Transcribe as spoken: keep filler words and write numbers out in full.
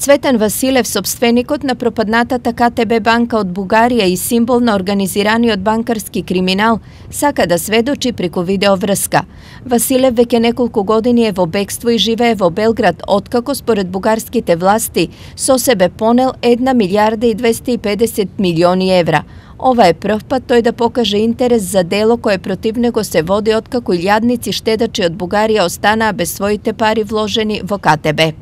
Цветан Василев, собственикот на пропаднатата Ка Те Бе банка од Бугарија и символ на организираниот банкарски криминал, сака да сведочи преку видеоврска. Василев веќе неколку години е во бегство и живее во Белград, откако според бугарските власти со себе понел една милијарда и двесте и педесет милиони евра. Ова е прв пат тој да покаже интерес за дело кое против него се води откако илјадници штедачи од Бугарија останаа без своите пари вложени во Ка Те Бе.